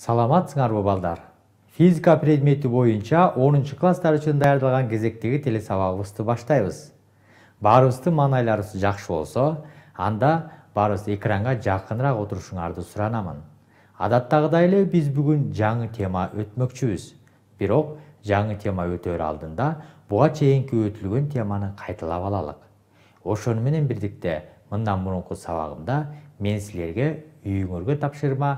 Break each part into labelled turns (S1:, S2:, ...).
S1: Саламатсыңарбы балдар? Физика предмети боюнча 10 класстар үчүн даярдалган кезектеги телесабагыбызды баштайбыз. Баарыбыздын маанайларыбыз жакшы болсо, анда баарыбыз экранга жакыныраак отурушуңарды суранамын. Адаттагыдай эле биз бүгүн жаңы тема өтмөкчүбүз. Бирок жаңы тема өтөр алдында буга чейинки өтүлгөн теманы кайталап алалык. Ошону менен бирдикте мындан мурунку сабагымда мен силерге үйүңөргө тапшырма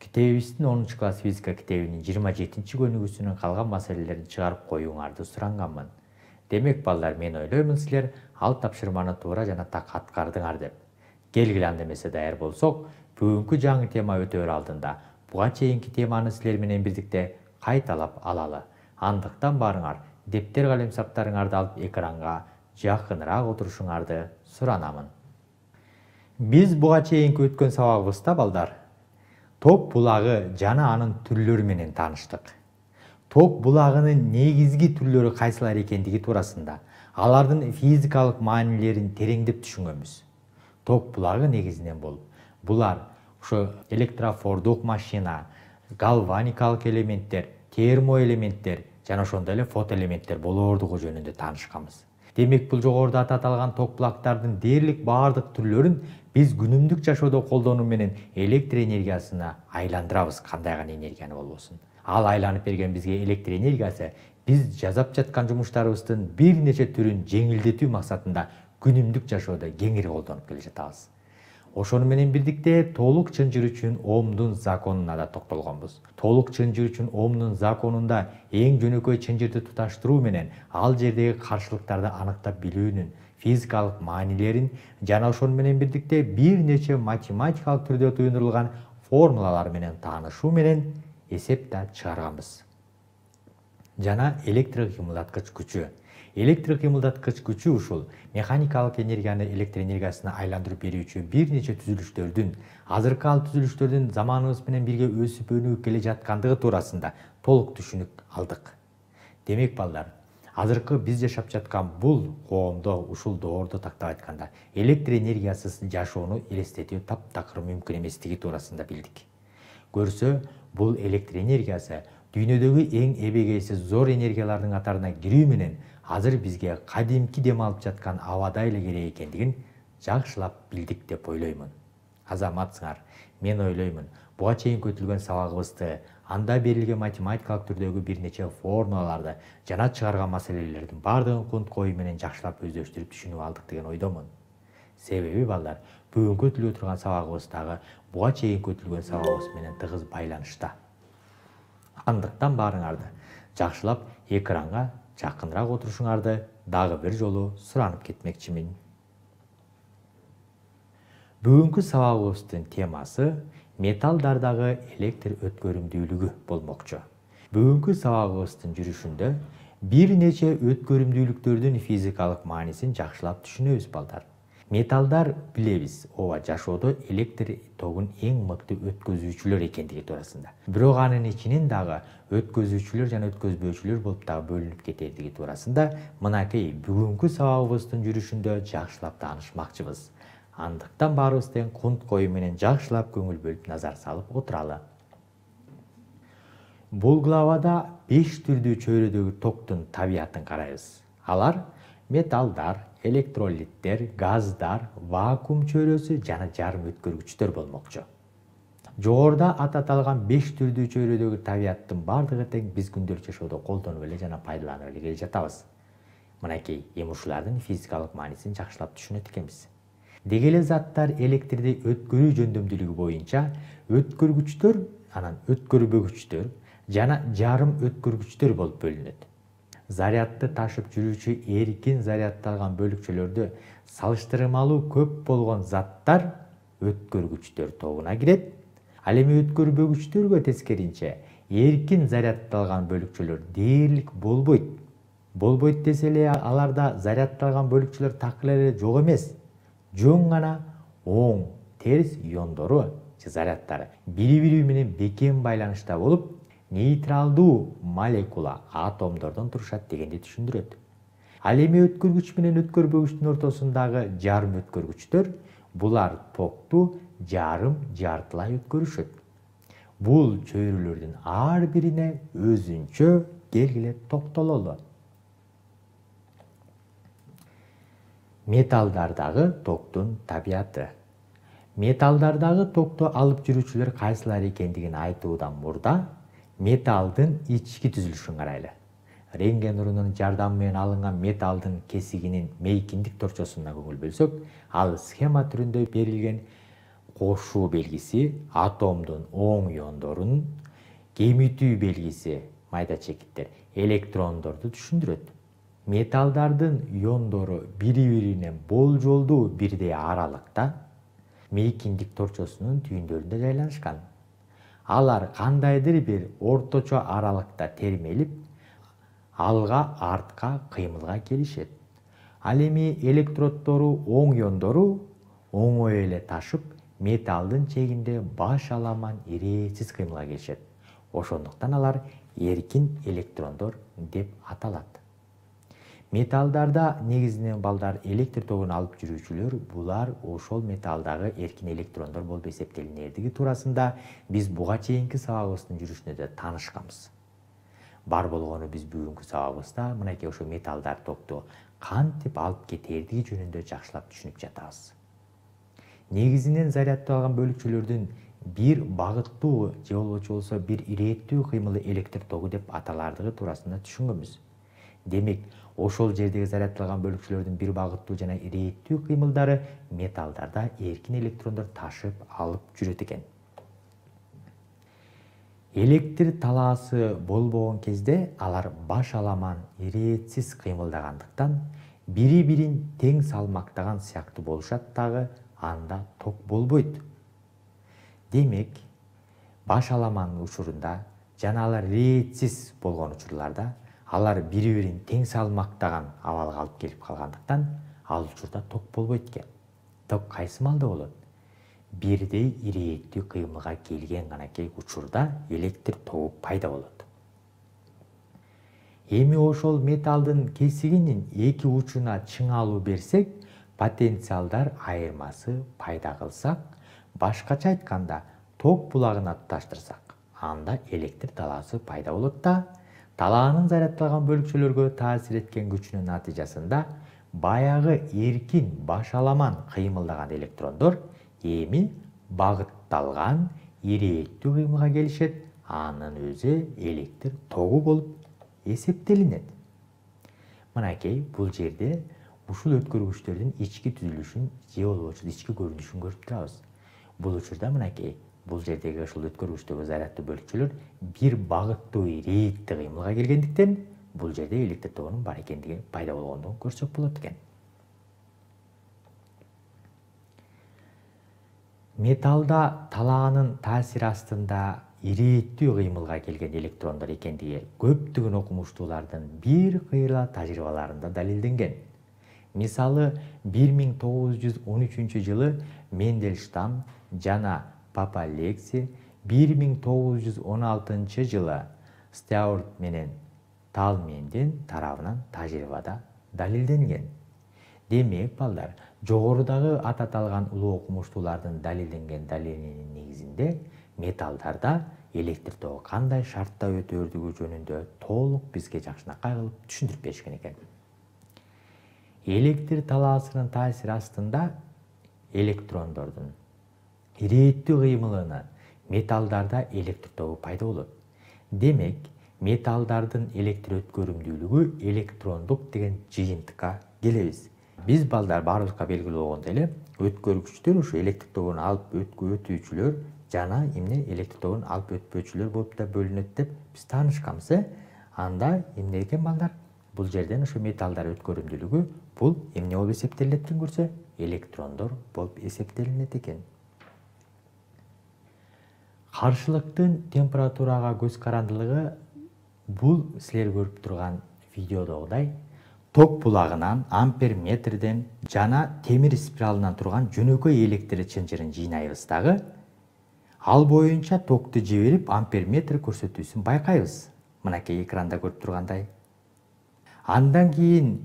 S1: китебибиздин 10 класс физика китебинин 27-көнүгүүсүнүн калган маселелерин чыгарып коюңарды суранганмын. Демек балдар, мен ойлоймун силер ал тапшырманы туура жана так аткардыңар деп. Келгиле анда эмесе даяр болсок, бүгүнкү жаңы тема өтөр алдында буга чейинки теманы силер менен бирдикте кайталап алалы. Андыктан барыңар, дептер калемсаптарыңарды алып экранга жакыныраак отурушуңарды суранамын. Биз буга чейинки өткөн сабагыбызда балдар ток булагы жана анын түрлөрү менен тааныштык. Ток булагынын негизги түрлөрү кайсылар экендиги туурасында, алардын физикалык маанилерин тереңдеп түшүнгөнбүз. Ток булагы негизинен булар ошо электрофордук машина, галваникалык элементтер, термоэлементтер жана ошондой эле фотоэлементтер болоордугу жөнүндө таанышканбыз. Демек, бул жогоруда аталган ток булактардын дээрлик баардык түрлөрүн биз күнүмдүк жашоодо колдонуу менен электр энергиясына айландырабыз, кандай гана энергияны болбосун. Ал айланып берген бизге электр энергиясы биз жасап жаткан жумуштарыбыздын бир нече түрүн жеңилдетүү максатында күнүмдүк жашоодо кеңири колдонуп келе жатабыз. Ошону менен бирдикте толук чынжыр үчүн Омдун законуна да токтолгонбуз. Толук чынжыр үчүн Омдун законунда эң жөнөкөй чынжырды туташтыруу менен ал жердеги каршылыктарды аныктап билүүнүн физикалык маанилерин жана ошону менен бирдикте бир нече математикалык түрдө туюндурулган формулалар менен таанышуу менен эсеп да чыгарганбыз. Жана электр кыймылдаткыч күчү. Электр кыймылдаткыч күчү ушул механикалык энергияны электр энергиясына айландырып берүүчү бир нече түзүлүштөрдүн, азыркы ал түзүлүштөрдүн заманыбыз менен бирге өсүп өнүгүп келе жаткандыгы туурасында толук түшүнүк алдык. Демек балдар, азыркы биз жашап жаткан бул коомдо, ушул доордо тактап айтканда, электр энергиясыз жашоону элестетүү таптакыр мүмкүн эместиги туурасында билдик. Көрсө, бул электр энергиясы дүйнөдөгү эң эбегейсиз зор энергиялардын катарына кирүү менен азыр бизге кадимки дем алып жаткан абадай эле керек экендигин жакшылап билдик деп ойлоймун. Азаматсыңар, мен ойлоймун, буга чейинки өтүлгөн сабагыбызды, анда берилген математикалык түрдөгү бир нече формулаларды жана чыгарган маселелердин баардыгын кунт коюу менен жакшылап өздөштүрүп түшүнүп алдык деген ойдомун. Себеби балдар, бүгүнкү өтүлүп турган сабагыбыз дагы буга чейинки өтүлгөн сабагыбыз менен тыгыз байланышта. Андыктан баарыңарды жакшылап экранга жакыныраак отурушуңарды дагы бир жолу суранып кетмекчимин. Бүгүнкү сабагыбыздын темасы металлдардагы электр өткөрүмдүүлүгү болмокчу. Бүгүнкү сабагыбыздын жүрүшүндө бир нече өткөрүмдүүлүктөрдүн физикалык маанисин жакшылап түшүнөбүз балдар. Металлдар билебиз, ооба, жашоодо электр тогун эң мыкты өткөзүүчүлөр экендиги туурасында. Бирок анын ичинен дагы өткөзүүчүлөр жана өткөзбөөчүлөр болуп дагы бөлүнүп кетердиги туурасында мынакей бүгүнкү сабагыбыздын жүрүшүндө жакшылап таанышмакчыбыз. Андыктан баарыбыз тең кунт коюу менен жакшылап көңүл бөлүп назар салып отуралы. Бул главада 5 түрдүү чөйрөдөгү токтун табиятын карайбыз. Алар металлдар, электролиттер, газдар, вакуум чөйрөсү жана жарым өткөргүчтөр болмокчу. Жогоруда аталган 5 түрдүү чөйрөдөгү табияттын бардыгы тең биз күндөлүк жашоодо колдонуп эле жана пайдаланып эле келе жатабыз. Мынакей, эми ушулардын физикалык маанисин жакшылап түшүнөт экенбиз. Деги эле заттар электрди өткөрүү жөндөмдүүлүгү боюнча өткөргүчтөр, анан өткөрбөгүчтөр жана жарым өткөргүчтөр болуп бөлүнөт. Зарядты ташып жүрүүчү эркин зарядталган бөлүкчөлөрдө салыштырмалуу көп болгон заттар өткөргүчтөр тобуна кирет. Ал эми өткөрбөгүчтөргө тескеринче эркин зарядталган бөлүкчөлөр дээрлик болбойт. Болбойт десе эле аларда зарядталган бөлүкчөлөр так эле жок эмес. Жөн гана оң, терс иондору же зарядтары бири-бири менен бекем байланышта болуп, нейтралдуу молекула атомдордон турушат дегенди түшүндүрөт. Ал эми өткөргүч менен өткөрбөгүчтүн ортосундагы жарым өткөргүчтөр булар токту жарым жартылай өткөрүшөт. Бул чөйрөлөрдүн ар бирине өзүнчө келгиле токтололу. Металлдардагы токтун табияты. Металлдардагы токту алып жүрүүчүлөр кайсылар экендигин айтуудан мурда металлдын ички түзүлүшүн карайлы. Рентген нурунун жардамы менен алынган металлдын кесигинин мейкиндик торчосуна көңүл бөлсөк, ал схема түрүндө берилген кошуу белгиси атомдун оң иондорун, кемитүү белгиси майда чекиттер электрондорду түшүндүрөт. Металлдардын иондору бири-бирине болжолдуу бирдей аралыкта мейкиндик торчосунун түйүндөрүндө жайланышкан. Алар кандайдыр бир орточо аралыкта термелип, алга-артка кыймылга келишет. Ал эми электроддору оң иондору оңой эле ташып, металлдын чегинде баш аламан ирээтсиз кыймылга келишет. Ошондуктан алар эркин электрондор деп аталат. Металлдарда негизинен балдар электр тогун алып жүрүүчүлөр, булар ошол металлдагы эркин электрондор болуп эсептелинердиги туурасында биз буга чейинки сабагыбыздын жүрүшүндө таанышканбыз. Бар болгону биз бүгүнкү сабагыбызда мынакей ошо металлдар токту кантип алып кетердиги жөнүндө жакшылап түшүнүп жатабыз. Негизинен заряддалган бөлүкчөлөрдүн бир багыттуу же болбосо бир ирээттүү кыймылы электр тогу деп аталардыгы туурасында түшүнгөнбүз. Демек, ошол жердеги заряддалган бөлүкчөлөрдүн бир багыттуу жана ирээттүү кыймылдары металлдарда эркин электрондор ташып алып жүрөт экен. Электр талаасы болбогон кезде алар баш аламан ирээтсиз кыймылдагандыктан бири-бирин тең салмактаган сыяктуу болушат дагы, анда ток болбойт. Демек, баш аламан учурунда жана алар ирээтсиз болгон учурларда алар бири-бирин тең салмактаган абалга алып келип калгандыктан ал учурда ток болбойт экен. Ток кайсы маалда болот? Бирдей ирэеттүү кыймылга келген ганакей учурда электр тогу пайда болот. Эми ошол металлдын кесигинин эки учуна чыңалуу берсек, потенциалдар айырмасы пайда кылсак, башкача айтканда, ток булагына туташтырсак, анда электр талаасы пайда болот да, талаанын заряддалган бөлүкчөлөргө таасир эткен күчүнүн натыйжасында баягы эркин баш аламан кыймылдаган электрондор эми багытталган ирээттүү кыймылга келишет, анын өзү электр тогу болуп эсептелинет. Мынакей бул жерде ушул өткөргүчтөрдүн ички түзүлүшүн же болбосо ички көрүнүшүн көрүп турабыз. Бул учурда мынакей бул жердеги ушул өткөргүчтөгү заряддуу бөлүкчөлөр бир багыттуу ирээттүү кыймылга келгендиктен бул жерде электр тогунун бар экендиги пайда болгондугун көрсөк болот экен. Металлда талаанын таасири астында ирээттүү кыймылга келген электрондор экендиги көптөгөн окумуштуулардын бир кыйла тажрыйбаларында далилденген. Мисалы, 1913-жылы Мендельштам жана Папа Лекси, 1916-жылы Стюарт менен Талмендин тарабынан тажрыйбада далилденген. Демек, балдар, жогорудагы ататалган улуу окумуштуулардын далилденген далилинин негизинде металлдарда электр тогу кандай шартта өтөрдүгү жөнүндө толук бизге жакшынакай кылып түшүндүрүп беришкен экен. Электр талаасынын таасири астында электрондордун ирээттүү кыймылына металлдарда электр тогу пайда болот. Демек, металлдардын электр өткөрүмдүүлүгү электрондук деген жыйынтыкка келебиз. Биз балдар баарыбызга белгилүү болгондой эле өткөргүчтөр ушу электр тогун алып өтүүчүлөр жана эмне электр тогун алып өтпөөчүлөр болуп да бөлүнөт деп биз таанышканбыз. Анда эмне экен балдар? Бул жерден ушу металлдар өткөрүмдүүлүгү бул эмне болуп эсептелет деп көрсө, электрондор болуп эсептелинет экен. Каршылыктын температурага көз карандылыгы бул силер көрүп турган видеодогудай ток булагынан, амперметрден жана темир спиралынан турган жөнөкөй электр чынжырын жыйнайбыз дагы, ал боюнча токту жиберип амперметр көрсөтүүсүн байкайбыз. Мынакей экранда көрүп тургандай. Андан кийин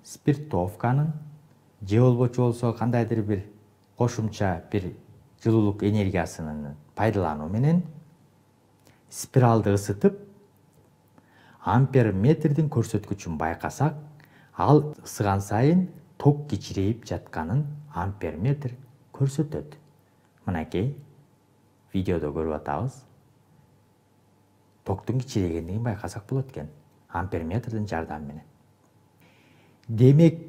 S1: спиртовканын же болбочу болсо кандайдыр бир кошумча бир жылуулук энергиясынын пайдалануу менен спиралды ысытып, ампер метрдин көрсөткүчүн байкасак, ал ысыган сайын ток кичирейип жатканын ампер метр көрсөтөт. Мынакей видеодо көрүп атабыз. Токтун кичирейгендигин байкасак болот экен ампер метрдин жардамы менен. Демек,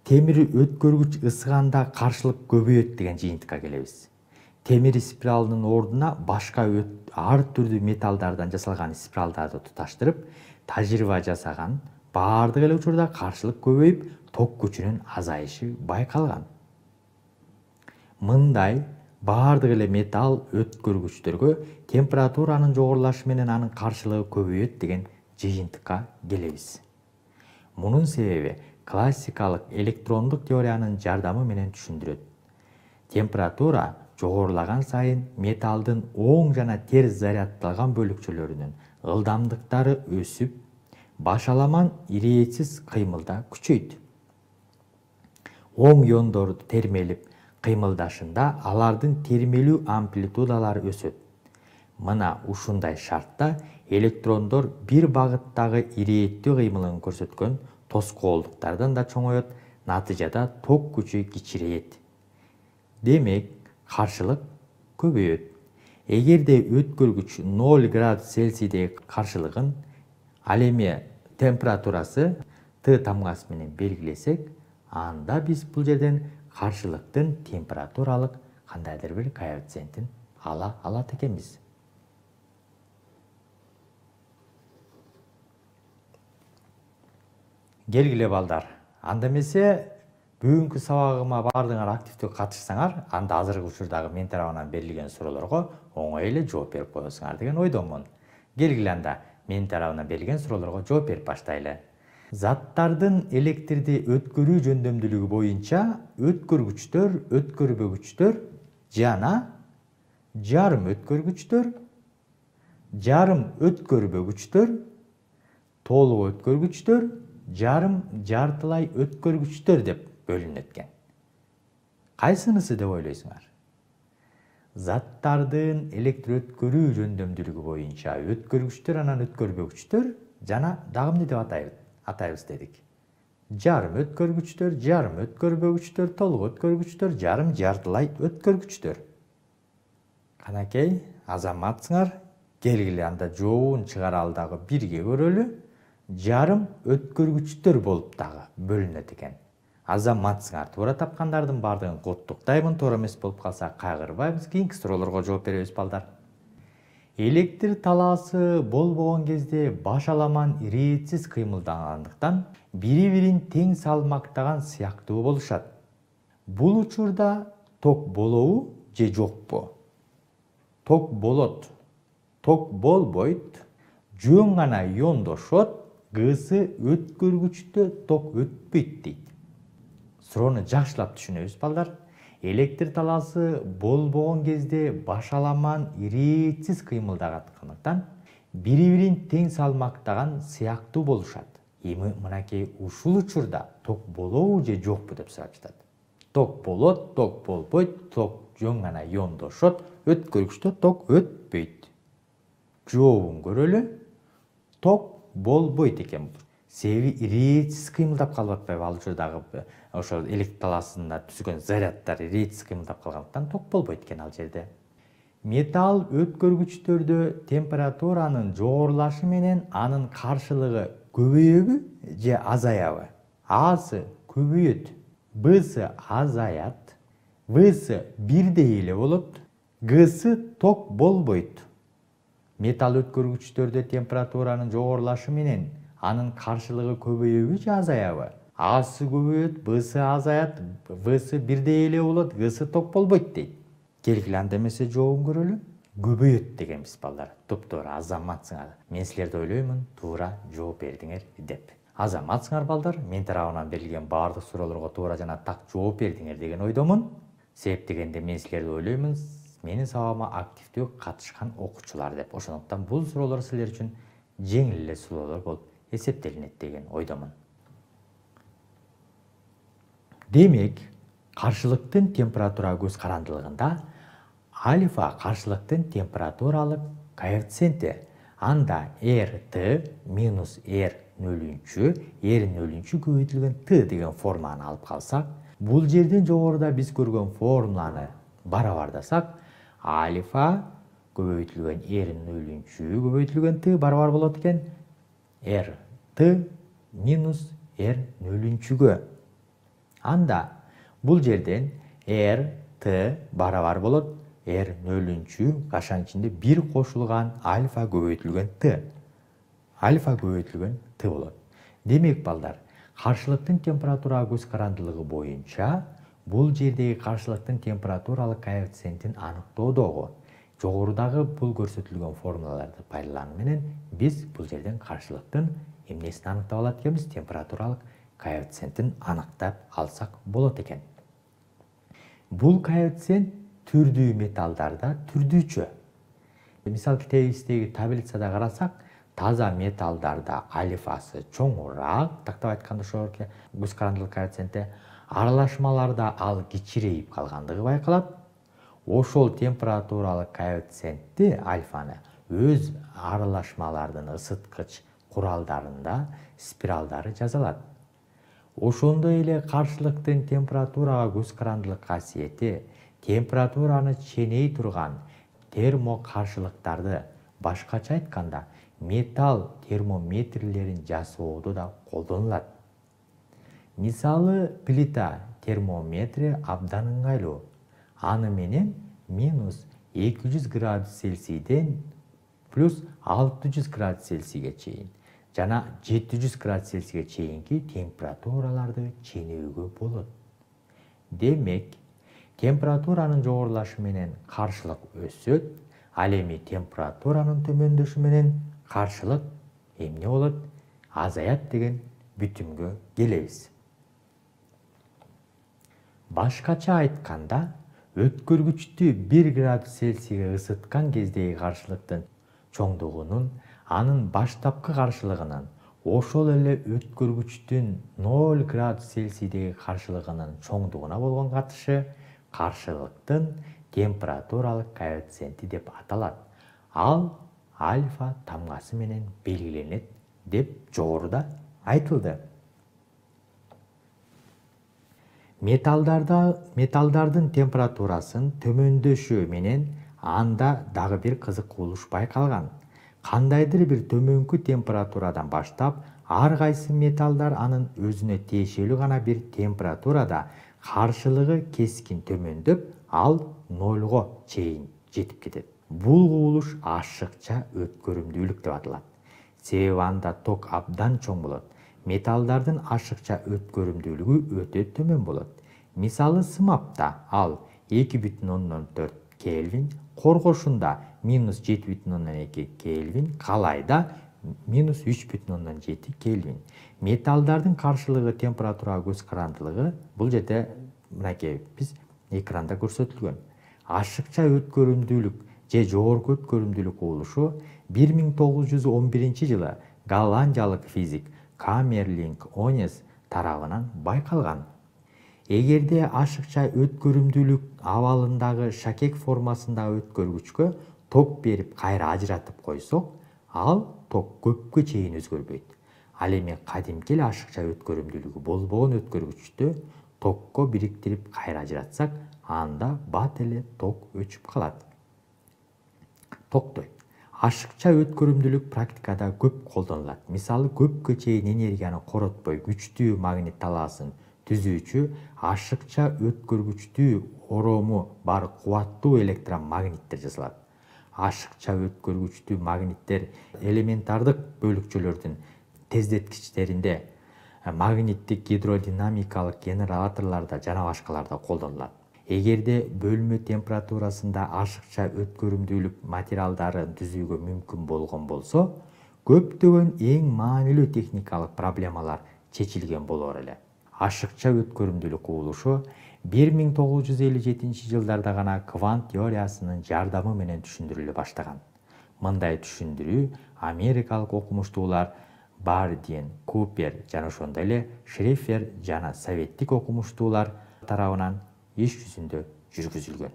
S1: темир өткөргүч ысыганда каршылык көбөйөт деген жыйынтыкка келебиз. Темир спиралынын ордуна башка ар түрдүү металлдардан жасалган спиралдарды туташтырып, тажрыйба жасаган, баардык эле учурда каршылык көбөйүп, ток күчүнүн азайышы байкалган. Мындай баардык эле металл өткөргүчтөргө температуранын жогорулашы менен анын каршылыгы көбөйөт деген жыйынтыкка келебиз. Мунун себеби классикалык электрондук теориянын жардамы менен түшүндүрөт. Температура жогорулаган сайын металлдын оң жана терс заряддалган бөлүкчөлөрүнүн ылдамдыктары өсүп, башаламан ирээтсиз кыймылда күчөйт. Оң иондор термелип кыймылдашында алардын термелүү амплитудалары өсөт. Мына ушундай шартта электрондор бир багыттагы ирэеттүү кыймылын көрсөткөн тоскоолдуктардан да чоңоет, натыйжада ток күчү кичирейет. Демек, каршылык көбөйөт. Эгерде өткөргүч 0 градус Цельсийдеги каршылыгын, ал эми температурасы Т тамгасы менен белгилесек, анда биз бул жерден каршылыктын температуралык кандайдыр бир коэффициентин ала алат экенбиз. Келгиле балдар, анда эмесе бүгүнкү сабагыма баардыгыңар активдүү катышсаңар, анда азыркы учурдагы мен тарабынан берилген суроолорго оңой эле жооп берип коесуңар деген ойдомун. Келгиле анда мен тарабынан берилген суроолорго жооп берип баштайлы. Заттардын электрди өткөрүү жөндөмдүүлүгү боюнча өткөргүчтөр, өткөрбөгүчтөр жана жарым өткөргүчтөр, жарым өткөрбөгүчтөр, толук өткөргүчтөр, жарым жартылай өткөргүчтөр деп бөлүнөт экен. Кайсынысы деп ойлойсуңар? Заттардын электр өткөрүү жөндөмдүүлүгү боюнча өткөргүчтөр анан өткөрбөгүчтөр жана дагы эмне деп атайбыз дедик? Жарым өткөргүчтөр, жарым өткөрбөгүчтөр, толук өткөргүчтөр, жарым жартылай өткөргүчтөр. Канакей, азаматсыңар, келгиле анда жообун чыгаралы дагы бирге көрөлү. Жарым өткөргүчтөр болуп дагы бөлүнөт экен. Азаматсыңар, туура тапкандардын баардыгын куттуктайбын. Туура эмес болуп калса кайгырбайбыз, кийинки суроолорго жооп беребиз балдар. Электр талаасы болбогон кезде башаламан ирээтсиз кыймылдагандыктан бири-бирин тең салмактаган сыяктуу болушат. Бул учурда ток болобу же жокпу? Ток болот. Ток болбойт. Жөн гана иондошот. Гысы өткөргүчтө ток өтпөйт дейт. Суроону жакшылап түшүнөбүз балдар. Электр талаасы болбогон кезде башаламан ирээтсиз кыймылдагандыктан бири-бирин тең салмактаган сыяктуу болушат. Эми мынакей ушул учурда ток болобу же жокпу деп сурап жатат. Ток болот, ток болбойт, ток жөн гана иондошот, өткөргүчтө ток өтпөйт. Жообун көрөлү. Ток болбойт экен. Себеби ирээтсиз кыймылдап калып атпайбы? Ал учурдагы ошол электр талаасында түзгөн заряддар ирээтсиз кыймылдап калгандыктан ток болбойт экен ал жерде. Металл өткөргүчтөрдө температуранын жогорулашы менен анын каршылыгы көбөйөбү же азаябы? Асы көбөйөт, Б'сы азаят, В'сы бирдей эле болот, Г'сы ток болбойт. Металл өткөргүчтөрдө температуранын жогорулашы менен анын каршылыгы көбөйөбү же азаябы? Асы көбөйөт, Б'сы азаят, В'сы бирдей эле болот, Г'сы ток болбойт дейт. Келгиле анда эмесе жообун көрөлү. Көбөйөт дегенбиз балдар. Топтуура азаматсыңар. Мен силерди ойлоймун, туура жооп бердиңер деп. Азаматсыңар балдар, мен тарабынан берилген баардык суроолорго туура жана так жооп бердиңер деген ойдомун. Себеп дегенде мен силерди ойлоймун, менин сабагыма активдүү катышкан окуучулар деп. Ошондуктан бул суроолор силер үчүн жеңил эле суроолор болуп эсептелинет деген ойдомун. Демек, каршылыктын температура көз карандылыгында Альфа каршылыктын температуралык коэффициенти. Анда RT минус R нөлүнчү, R нөлүнчү көбөйтүлгөн T деген форманы алып калсак, бул жерден жогоруда биз көргөн формуланы барабардасак, альфа көбөйтүлгөн R нөлүнчү көбөйтүлгөн T барабар болот экен RT минус R нөлүнчүгө. Анда бул жерден RT барабар болот R нөлүнчү кашан ичинде 1 кошулган альфа көбөйтүлгөн T. Альфа көбөйтүлгөн T болот. Демек балдар, каршылыктын температурага көз карандылыгы боюнча бул жердеги каршылыктын температуралык коэффициентин аныктоодогу жогорудагы бул көрсөтүлгөн формулаларды пайдалануу менен биз бул жерден каршылыктын эмнесин аныктап алат экенбиз, температуралык коэффициентин аныктап алсак болот экен. Бул коэффициент түрдүү металлдарда түрдүүчө. Мисал китебибиздеги таблицада карасак, таза металлдарда альфасы чоңураак, тактап айтканда ошол көз карандылык коэффициенти, аралашмаларда ал кичирейип калгандыгы байкалат. Ошол температуралык коэффициентти альфаны өз аралашмалардын ысыткыч куралдарында спиралдары жазалат. Ошондой эле каршылыктын температурага көз карандылык касиети температураны ченей турган термокаршылыктарды, башкача айтканда, металл термометрлерин жасоодо да колдонулат. Мисалы, плита термометри абдан ыңгайлуу. Аны менен минус 200 градус Цельсийден плюс 600 градус Цельсийге чейин жана 700 градус Цельсийге чейинки температураларды ченөөгө болот. Демек, температуранын жогорулашы менен каршылык өсөт, ал эми температуранын төмөндөшү менен каршылык эмне болот? Азаят деген бүтүмгө келебиз. Башкача айтканда, өткөргүчтү 1 градус Цельсийге ысыткан кездеги каршылыктын чоңдугунун анын баштапкы каршылыгынын ошол эле өткөргүчтүн 0 градус Цельсийдеги каршылыгынын чоңдугуна болгон катышы каршылыктын температуралык коэффициенти деп аталат. Ал альфа тамгасы менен белгиленет деп жогоруда айтылды. Металлдардын температурасын төмөндөшү менен анда дагы бир кызык кубулуш байкалган. Кандайдыр бир төмөнкү температурадан баштап, ар кайсы металлдар анын өзүнө тиешелүү гана бир температурада каршылыгы кескин төмөндөп, ал 0го чейин жетип кетет. Бул кубулуш ашыкча өткөрүмдүүлүк деп аталат. Себеби анда ток абдан чоң болот. Металлдардын ашыкча өткөрүмдүүлүгү өтө төмөн болот. Мисалы, сымапта ал 2,4 Кельвин, коргошунда минус 7,2 Кельвин, калайда минус 3,7 Кельвин. Металлдардын каршылыгы температурага көз карандылыгы бул жерде мынакей биз экранда көрсөтүлгөн. Ашыкча өткөрүмдүүлүк же жогорку өткөрүмдүүлүк кубулушу 1911-жылы голландиялык физик Камерлинг Онес тарабынан байкалган. Эгерде ашыкча өткөрүмдүүлүк абалындагы шакек формасындагы өткөргүчкө ток берип кайра ажыратып койсок, ал ток көпкө чейин өзгөрбөйт. Ал эми кадимки эле ашыкча өткөрүмдүүлүгү болбогон өткөргүчтү токко бириктирип кайра ажыратсак, анда бат эле ток өчүп калат. Токтойт. Ашыкча өткөрүмдүүлүк практикада көп колдонулат. Мисалы, көпкө чейин энергияны коротпой күчтүү магнит талаасын түзүүчү ашыкча өткөргүчтүү орому бар кубаттуу электромагниттер жасалат. Ашыкча өткөргүчтүү магниттер элементардык бөлүкчөлөрдүн тездеткичтеринде, магниттик гидродинамикалык генераторлордо жана башкаларда колдонулат. Эгерде бөлмө температурасында ашыкча өткөрүмдүүлүк материалдарын түзүүгө мүмкүн болгон болсо, көптөгөн эң маанилүү техникалык проблемалар чечилген болор эле. Ашыкча өткөрүмдүүлүк кубулушу 1957-жылдарда гана квант теориясынын жардамы менен түшүндүрүлө баштаган. Мындай түшүндүрүү америкалык окумуштуулар Бардин, Купер жана ошондой эле Шрефер жана советтик окумуштуулар тарабынан иш жүзүндө жүргүзүлгөн.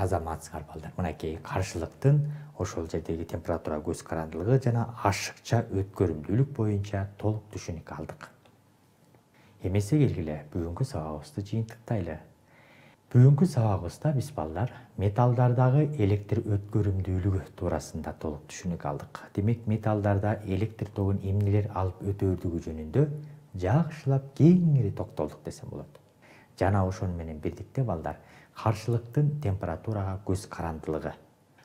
S1: азаматсыңар балдар. Мынакей каршылыктын ошол жердеги температура, көз карандылыгы жана ашыкча өткөрүмдүүлүк боюнча толук түшүнүк алдык. Эмесе келгиле бүгүнкү сабагыбызды жыйынтыктайлы. Бүгүнкү сабагыбызда биз балдар металлдардагы электр өткөрүмдүүлүгү туурасында толук түшүнүк алдык. Демек, металлдарда электр тогун эмнелер алып өтөөрдүгү жөнүндө жакшылап кеңири токтолдук десем болот. Жана ошону менен бирдикте балдар каршылыктын температурага көз карандылыгы,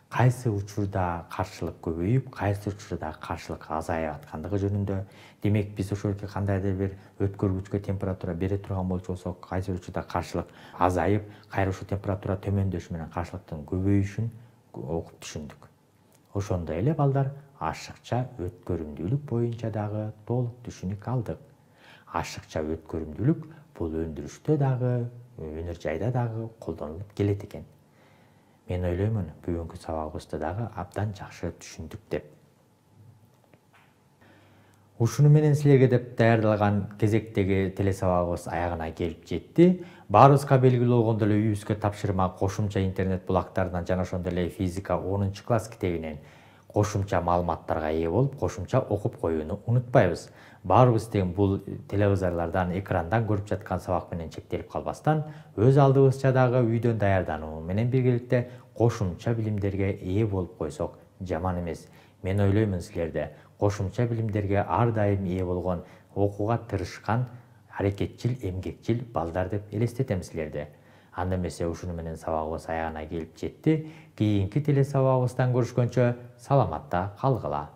S1: кайсы учурда каршылык көбөйүп, кайсы учурда каршылык азайып аткандыгы жөнүндө. Демек, биз ошолки кандайдыр бир өткөргүчкө температура бере турган болсок, кайсы учурда каршылык азайып, кайра ушул температура төмөндөшү менен каршылыктын көбөйүшүн окуп түшүндүк. Ошондой эле балдар ашыкча өткөрүмдүүлүк боюнча дагы толук түшүнүк алдык. Ашыкча өткөрүмдүүлүк бул өндүрүштө дагы, өнөр жайда дагы колдонулуп келет экен. Мен ойлоймун, бүгүнкү сабагыбызды дагы абдан жакшы түшүндүк деп. Ушуну менен силерге деп даярдалган кезектеги телесабагыбыз аягына келип жетти. Баарыбызга белгилүү болгондой эле үйүбүзгө тапшырма кошумча интернет булактарынан жана ошондой эле физика 10-класс китебинен кошумча маалыматтарга ээ болуп, кошумча окуп коюуну унутпайбыз. Баарыбыз тең бул телевизорлордон, экрандан көрүп жаткан сабак менен чектелип калбастан, өз алдыбызча дагы үйдөн даярдануу менен биргеликте кошумча билимдерге ээ болуп койсок жаман эмес. Мен ойлоймун, силерде кошумча билимдерге ар дайым ээ болгон, окууга тырышкан, аракетчил, эмгекчил балдар деп элестетем силерди. Анда эмесе ушуну менен сабагыбыз аягына келип жетти. Кийинки телесабагыбыздан көрүшкөнчө саламатта калгыла.